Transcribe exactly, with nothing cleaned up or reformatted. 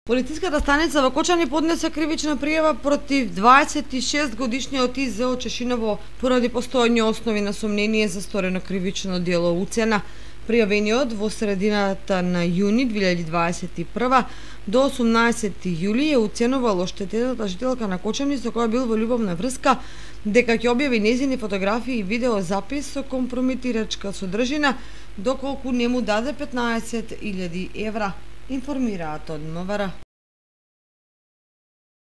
Полициската станица во Кочани поднесе кривична пријава против дваесет и шест годишниот И З од Чешиново поради постојани основи на сомнение за сторено кривично дело уцена. Пријавениот во средината на јуни две илјади дваесет и прва до осумнаесети јули е уценувал оштетената жителка на Кочани со која бил во љубовна врска, дека ќе објави нејзини фотографии и видеозапис со компрометирачка содржина доколку не му даде петнаесет илјади евра, информираат од М В Р.